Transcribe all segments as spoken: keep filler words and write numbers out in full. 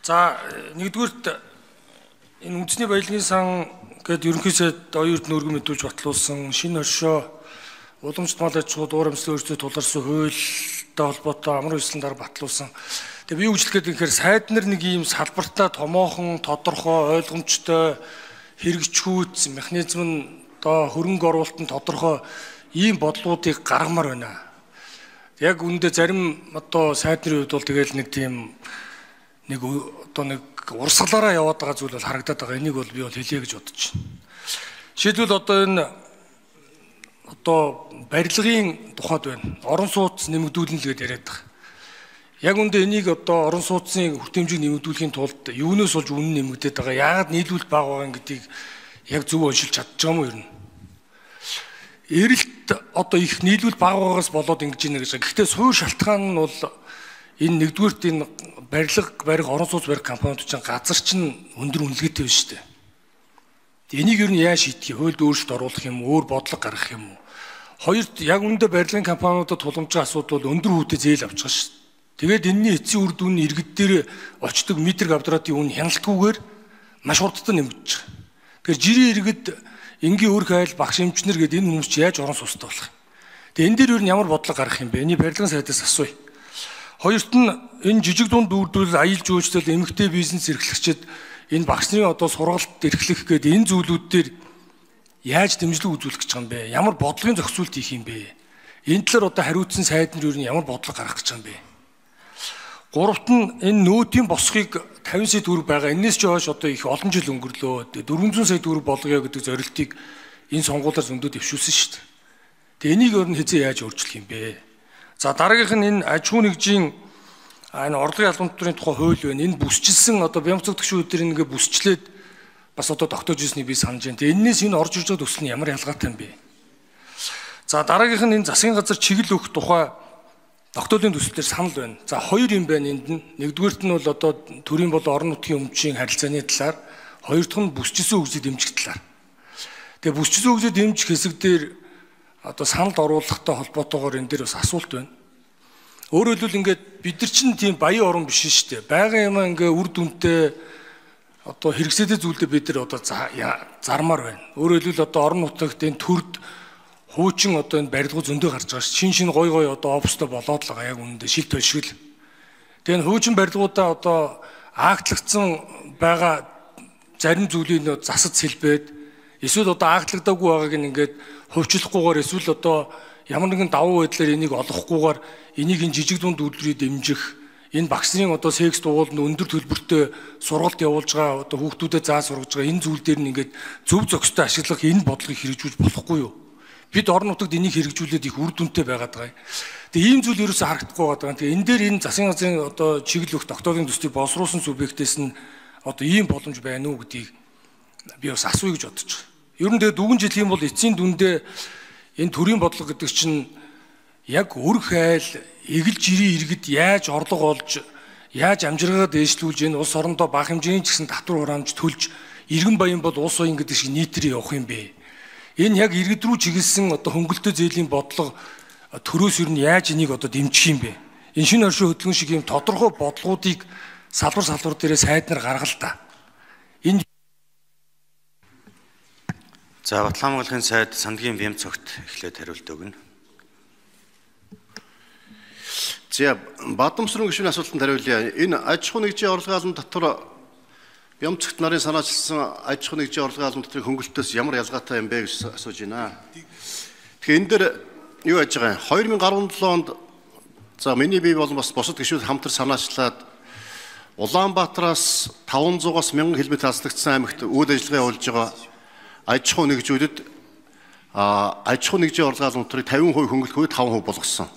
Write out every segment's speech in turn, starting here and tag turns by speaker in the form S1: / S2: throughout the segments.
S1: За нэгдүгürt энэ үндэсний баялагын сан гэдэг ерөнхий сайд оюун эрдэнэ өргөн мэдүүлж батлуулсан шинэ оршоо уламжлалт мал аж ахуй дуур амьсгалын өөрчлөлтөд тулгарсан хуультай холбоотой амар үйлчлэн дараа батлуулсан. Тэгээ би юу гэж хэлэх гээд тэгэхээр сайд нар нэг ийм салбартаа томоохон, тодорхой, ойлгомжтой хэрэгжихүйц механизм нь одоо хөрөнгө оруулалтын тодорхой ийм бодлуудыг гаргамаар байна. Яг үүндээ зарим одоо сайд нарын хувьд бол тэгэл нэг тийм нэг одоо нэг урсгалаараа яваад байгаа зүйл бол харагдаад байгаа. Энийг бол би бол хэлье гэж бодож байна. Жишээлбэл одоо энэ одоо барилгын тухайд байна. Орон сууц нэмэгдүүлнэ л гэдээ яриад байгаа. Яг үндэ энийг одоо орон сууцны хүртээмжийг нэмэгдүүлэхийн тулд юунаас болж үнэн нэмэгдээд байгаа? Яагаад нийлүүлэлт бага байгаа гэдгийг яг зөв уншилж чадчих юм уу ер нь? Эрэлт одоо их нийлүүлэлт бага байгаагаас болоод ингэж ийнэ гэж. Гэхдээ суур шалтгаан нь бол энэ нэгдүгürt энэ барилга барих орон сууц барих компаниуд чинь газар чинь өндөр үнэлгээтэй байна шүү дээ. Энийг ер нь яаж шийдэх вэ? Хуульд өөрчлөлт оруулах юм уу? Өөр бодлого гаргах юм уу? Хоёрт яг үндэ барилгын компаниудад тулгамжийн асуудал бол өндөр хүүтэй зээл авч байгаа шүү дээ. Тэгээд энэний эцсийн үр дүн нь иргэд дээр очдог метр квадратын үн хяналтгүйгээр маш хурдтай нэмэгдэж байгаа. Тэгэхээр жирийн иргэд энгийн өр хайл багш эмчнэр гэдэг энэ хүмүүс чи яаж орон сууцтай болох юм? Тэгээд энэ дээр ер нь ямар бодлого гаргах юм бэ? Энийг барилгын сайдаас асууя. Хоёрт нь энэ жижиг дунд үйлдвэрлэл аялал жуулчлал эмэгтэй бизнес эрхлэгчид энэ багш нарын одоо сургалт эрхлэх гэдэг энэ зүйлүүд дээр яаж дэмжлэг үзүүлэх гэж байгаа юм бэ? Ямар бодлогын зохицуулт хийх юм бэ? Энэ талаар одоо хариуцсан сайд нар ер нь ямар бодлого гаргах гэж байгаа юм бэ? Гуравт нь энэ нөөтийн босхийг тавин сая төгрөг байгаа. Энээс ч хойш одоо их олон жил өнгөрлөө. дөрвөн зуун сая төгрөг болгоё гэдэг зорилтыг энэ сонгуулиар зөндөө дэвшүүлсэн шүү дээ. Тэгээ энийг өөр нь хэзээ яаж өөрчлөх юм бэ? За дараагийнх нь энэ аж ахуй нэгжийн энэ орлогын ялгамтрын тухай хууль байна. Энэ бүсчилсэн одоо Бямцаг төгшөө өдрийн ингээ бүсчлээд бас одоо тогтоож ирснийг би санаж байна. Тэгээ энэс энэ орж ирж байгаа төсөл нь ямар ялгаатай юм бэ? За дараагийнх нь энэ засгийн газар чиглэл өгөх тухай тогтоолын төслөөр санал байна. За хоёр юм байна энд нь. Нэгдүгээрт нь бол одоо төрийн болон орон нутгийн өмчийн харилцааны талаар, хоёр дахь нь бүсчилсэн хөгжлийг дэмжих талаар. Тэгээ бүсчилсэн хөгжлийг дэмжих хэсэг дээр одоо саналд оруулахтай холбоотойгоор энэ дээр бас асуулт байна. Өөрөөр хэлбэл ингээд бид нар чинь тийм баян орн биш шүү дээ. Байгаль юм ингээ үр дүнтэй одоо хэрэгсэдэг зүйлдээ бид нар одоо зармаар байна. Өөрөөр хэлбэл одоо орон нутагт энэ төрд хуучин одоо энэ барилгууд зөндөө гарч байгаа ш. Шин шин гой гой одоо офстой болоод л байгаа яг үүндээ шил тошгил. Тэгээ энэ хуучин барилгуудаа одоо аагтлагдсан байгаа зарим зүйлийг нөө засаж сэлбээд эсвэл одоо аагтлагдаагүй байгааг ингээд хувьчлахгүйгээр эсвэл одоо ямар нэгэн давуу байдлаар энийг олохгүйгээр энийг энэ жижиг дунд үйлдвэрийг дэмжих энэ багш нарын одоо секс дугууланд өндөр төлбөртэй сургалт явуулж байгаа одоо хүүхдүүдэд заа сургаж байгаа энэ зүйл дээр нь ингээд зөв зохистой ашиглах энэ бодлогыг хэрэгжүүлж болохгүй юу? Бид орон нутагт энийг хэрэгжүүлээд их үр дүнтэй байгаад байгаа. Тэгээ ийм зүйл ерөөсөө харагдахгүй байгаа. Тэгээ энэ дээр энэ засгийн газрын одоо чиглэл өгөх тогтоолын төслийг боловсруулсан субъектээс нь одоо ийм боломж байна уу гэдгийг би бас асууя гэж бодож байгаа. Ер нь тэгээ дүүгэн жил юм бол эцсийн дүндээ энэ төрийн бодлого гэдэг чинь яг өр хайл, эгэл жирийн иргэд яаж орлого олж, яаж амжиргаа дээшлүүлж энэ улс орондоо бага хэмжээний ч гэсэн татвар хураамж төлж иргэн баян бол улс оюун гэдэг шиг нийтрээ явах юм бэ? Энэ яг иргэд рүү чиглэсэн одоо хөнгөлөлтөө зээлийн бодлого төрөөс юу нь яаж энийг одоо дэмжих юм бэ? Энэ шинэ оршин хөдөлгөөн шиг юм тодорхой бодлогуудыг салбар салбар дээрээ сайд нар гаргал та. Энэ
S2: За Батлан Монголын сайд Сандгийн Бямцогт эхлээд хариулт өгнө.
S3: За Бадамсрын гишүүний асуултанд хариулъя. Энэ аж ахуй нэгжийн орлогын албан татвар Бямцогт нарын санаачилсан аж ахуй нэгжийн орлогын албан татврын хөнгөлөлтөөс ямар ялгаатай юм бэ гэж асууж байна. Тэгэхээр энэ дээр юу яаж байгаа юм? хоёр мянган арван долоо онд за миний бие болон бас бусад гишүүд хамтар санаачлаад Улаанбаатараас таван зугаас мянган километр хаслагдсан аймагт үйл ажиллагаа явуулж байгаа аж ахуй нэгжүүдэд аж ахуй нэгжийн орлогын албан татврыг тавин хувь хөнгөлөхөөр таван хувь болгосон.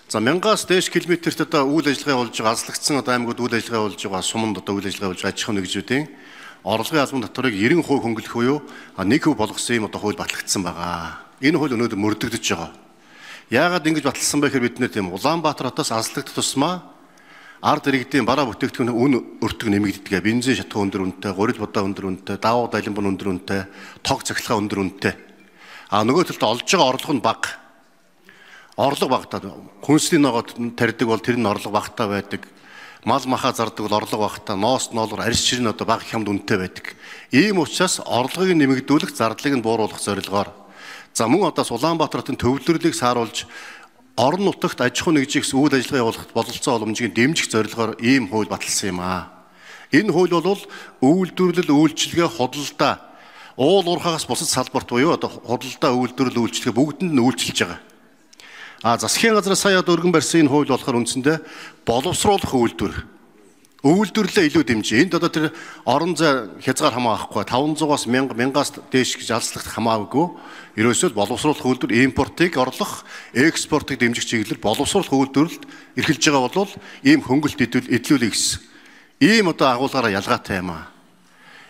S3: За мянгаас дээш километрт одоо үйл ажиллагаа болж байгаа аслагдсан одоо аймагуд үйл ажиллагаа болж байгаа суманд одоо үйл ажиллагаа болж аж ахуй нэгжүүдийн орлогын албан татварыг нэрэн хувь хөнгөлөх буюу нэг хувь болгосон юм одоо хууль батлагдсан байгаа. Энэ хууль өнөөдөр мөрдөгдөж байгаа. Яагаад ингэж баталсан бэ гэхээр бид нэр тийм Улаанбаатар хотоос аслагдах тусмаа ард иргэдийн бараа бүтээгдэхүүн үн өртөг нэмэгддэг. Бензин шатах өндөр үнэтэй, гурил бодоо өндөр үнэтэй, давуу далимбан өндөр үнэтэй, тог цахилгаан өндөр үнэтэй. А нөгөө талд олж байгаа орлого нь бага. Орлого багтаад хүнсний ногоод тарьдаг бол тэр нь орлого багтаа байдаг. мал маха зардаг бол орлого багтаа ноос ноолор арьс ширэн одоо бага хямд үнэтэй байдаг. Ийм учраас орлогыг нэмэгдүүлэх, зардлыг нь бууруулах зорилгоор за мөн одоо Улаанбаатар хотын төвлөрлийг сааруулж орон нутагт аж ахуй нэгжих үйл ажиллагаа явуулахад бололцоо уламжийг дэмжих зорилгоор ийм хууль баталсан юм аа. Энэ хууль бол үйлдвэрлэл, үйлчилгээ, худалдаа, уул уурхаагаас бусад салбарт буюу одоо худалдаа, үйлдвэрлэл, үйлчилгээ бүгдэнд нь үйлчилж байгаа. А засгийн газраас сая өргөн барьсан энэ хууль болохоор үндсэндээ боловсруулах үйлдвэр. Үйлдвэрлэлээ илүү дэмжиж. Энд одоо тэр орон зай хязгаар хамаахгүй таван зугаас мянга мянгаас дээш гэж алслах хамаагүй. Ерөөсөө боловсруулах үйлдвэр импортыг орлох, экспортыг дэмжих чиглэлээр боловсруулах үйлдвэрлэлд эрхэлж байгаа бол ийм хөнгөлт эдлүүлэх гэсэн. Ийм одоо агуулгаараа ялгаатай юм аа.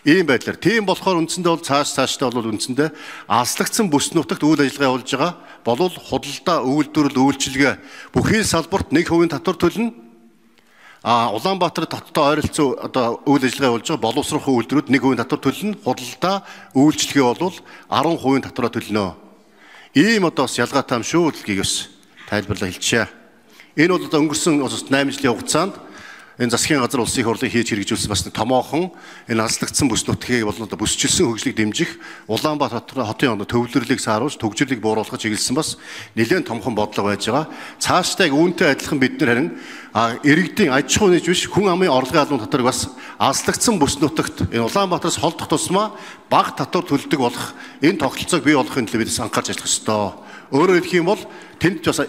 S3: Ийм байдлаар тийм болохоор үндсэндээ бол цааш цааштай бол үндсэндээ алслагдсан бүс нутагт үйл ажиллагаа явуулж байгаа болвол худалдаа, үйлдвэрлэл, үйлчилгээ бүхий салбарт нэг хувийн татвар төлнө. А Улаанбаатар хоттой ойролцоо одоо үйл ажиллагаа явуулж байгаа боловсрох үйлдвэрүүд нэг хувийн татвар төлнө. Худалдаа, үйлчилгээ бол арван хувийн татвараа төлнө. Ийм одоо бас ялгаатай юм шүү гэдгийг бас тайлбарлаа хэлчихье. Энэ бол одоо өнгөрсөн найман жилийн хугацаанд энэ засгийн газар улсын их хурлыг хийж хэрэгжүүлсэн бас томоохон энэ алслагдсан бүс нутгийг бол одоо бүсчилсэн хөгжлийг дэмжих Улаанбаатар хотын одоо төвлөрлийг сааруулж төгжрлийг бууруулах чиглэсэн бас нэлээд томхон бодлого байж байгаа. Цаашдаа үүнтэй адилхан бид нар харин иргэдийн аж ахуй нэгж биш хүн амын орлогын албан татварыг бас алслагдсан бүс нутагт энэ Улаанбаатараас холдох тусмаа бага татвар төлдөг болох энэ тогтолцоог бий болгохын төлөө бид анхаарч ажиллах ёстой. Өөрөөр хэлэх юм бол тэнд бас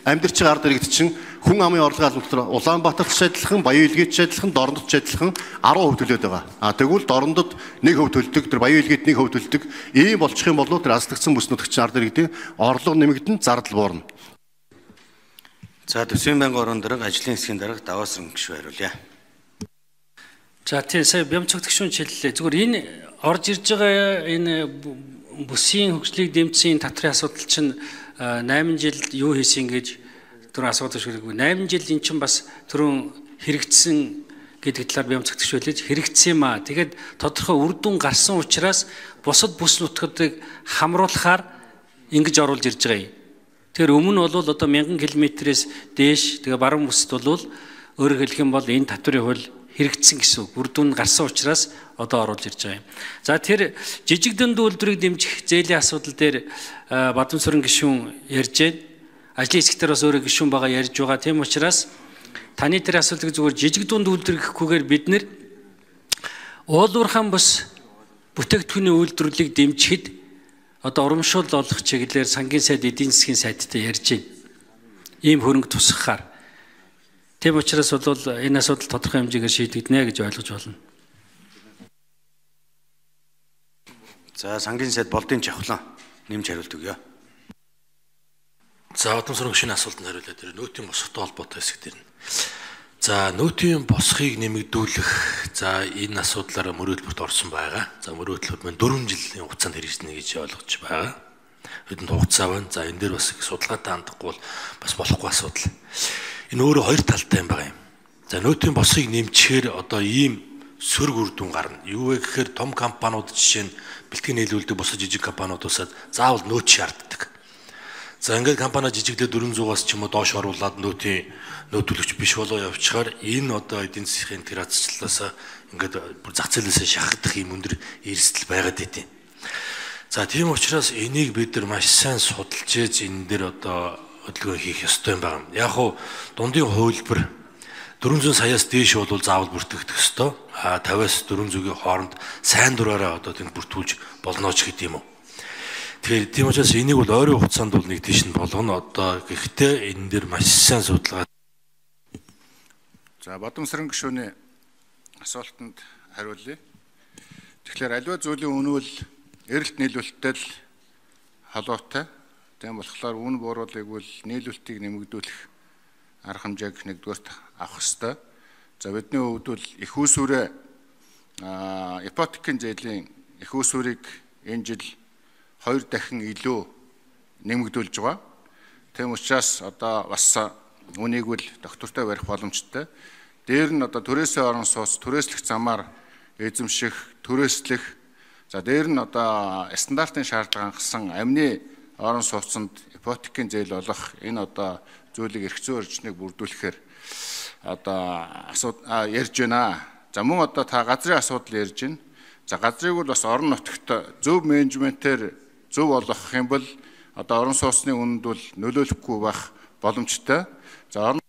S3: амьдарч байгаа ард иргэд чинь хүн амын орлогын албан татвар Улаанбаатарт ч адилхан, Баян Илгээт ч адилхан, Дорнод ч адилхан арван хувь төлөөд байгаа. А тэгвэл Дорнодод нэг хувь төлдөг, тэр Баян Илгээт нэг хувь төлдөг. Ийм болчих юм бол тэр алслагдсан бүс нутагчийн ард иргэдийн орлого нэмэгдэн зардал буурна.
S2: За төсвийн байнгын орон дарга ажлын хэсгийн дарга Даваасран гишүүн хариулъя.
S4: За тийм сая Бямцогт гишүүн хэллээ. Зүгээр энэ орж ирж байгаа энэ бүсийн хөгжлийг дэмжсэн татрын асуудал чинь найман жил юу хийсэн гэж түрүүн асуудал шүрэггүй. найман жил эн чинь бас түрүүн хэрэгжсэн гэдэг талаар Бямцогт гишүүлж хэрэгжсэн юм аа. Тэгээд тодорхой үр дүн гарсан учраас бусад бүс нутгуудыг хамруулахаар ингэж оруулж ирж байгаа юм. Тэгэхээр өмнө нь бол одоо мянган километрээс дээш тэгээ баруун бүсд бол өөрөөр хэлэх юм бол энэ татврын хууль хэрэгжсэн гэсэн үг. Үр дүн гарсан учраас одоо оруулж ирж байгаа юм. За тэр жижиг дүнд үйлдвэрийг дэмжих зээлийн асуудал дээр Бадамсүрэн гишүүн ярьж байна. Ажлын хэсгээр бас өөрөө гишүүн байгаа ярьж байгаа. Тийм учраас таны тэр асуудлыг зүгээр жижиг дунд үйлдвэр гэхгүйгээр бид нэр уулуурхаан бус бүтээгдэхүүний үйлдвэрлэлийг дэмжихэд одоо урамшуул олох чиглэлээр сангийн сайд, эдийн засгийн сайдтай ярьж байна. Ийм хөрөнгө тусгахаар. Тийм учраас бол энэ асуудал тодорхой хэмжээгээр шийдэгдэнэ гэж ойлгож байна.
S2: За сангийн сайд болдын жавхлан нэмж хариулт өгье.
S5: За Бадамсүрэн гишүүний асуултанд хариулъя. Тэр нөөтийн босхтой холбоотой хэсэг дээр нь. За нөөтийн босхийг нэмэгдүүлэх за энэ асуудлаараа мөрөөдөлд орсон байгаа. За мөрөөдөл маань дөрвөн жилийн хугацаанд хэрэгжинэ гэж ойлгож байгаа. Хэдэн хугацаа байна. За энэ дээр бас их судалгаатай хандахгүй бол бас болохгүй асуудал. Энэ өөрөө хоёр талтай юм байгаа юм. За нөөтийн босхийг нэмчихээр одоо ийм сөрөг үр дүн гарна. Юу вэ гэхээр том компаниуд жишээ нь бэлтгэн нийлүүлдэг босож жижиг компаниудаас заавал нөөц шаарддаг. За ингээд компани жижиглээ дөрвөн зугаас ч юм уу доош оруулаад нөөтийн нөөтөлөгч биш болоо явчихаар энэ одоо эдийн засгийн тэр азчлалаас ингээд бүр зах зээлээс шахагдах юм өндөр эрсдэл байгаад байдیں۔ За тийм учраас энийг бид нар маш сайн судалж ээж энэ дээр одоо хөдөлгөөн хийх ёстой юм байна. Яг хуу дундын хувилбар дөрвөн зуун саяас дээш бол заавал бүртгэгдэх ёстой. А тавиас дөрвөн зуугийн хооронд сайн дураараа одоо тэнд бүртгүүлж болно ч гэдэг юм уу. Тэгэхээр тийм учраас энийг бол ойрын хугацаанд бол нэг тийш нь болгоно одоо гэхдээ энэ дээр маш сайн судалгаа.
S6: За Бадамсүрэн гишүүний асуултанд хариулъя. Тэгэхээр аливаа зүйлийн үнэ бол эрэлт нийлүүлэлттэй л холбоотой. Тийм болохоор үнэ бууруулыг бол нийлүүлэлтийг нэмэгдүүлэх арга хэмжээг нэгдүгээрт авах ёстой. За бидний хувьд бол их усүрээ ипотекийн зээлийн их усүрийг энэ жил хоёр дахин илүү нэмэгдүүлж байгаа. Тийм учраас одоо бас үнийг бол доктортой барих боломжтой. Дээр нь одоо түрээсээ орон сууц, түрээслэх замаар эзэмших, түрээслэх. За дээр нь одоо стандартын шаардлага хангасан амны орон сууцнд ипотекийн зээл олох энэ одоо зүйлийг эрх зүйн орчныг бүрдүүлэхээр одоо асууд ярьж байна. За мөн одоо та газрын асуудал ярьж байна. За газрыг бол бас орон нутагт зөв менежментээр зөв болгох юм бол одоо орон сууцны үнэнд бол нөлөөлөхгүй байх боломжтой. За орон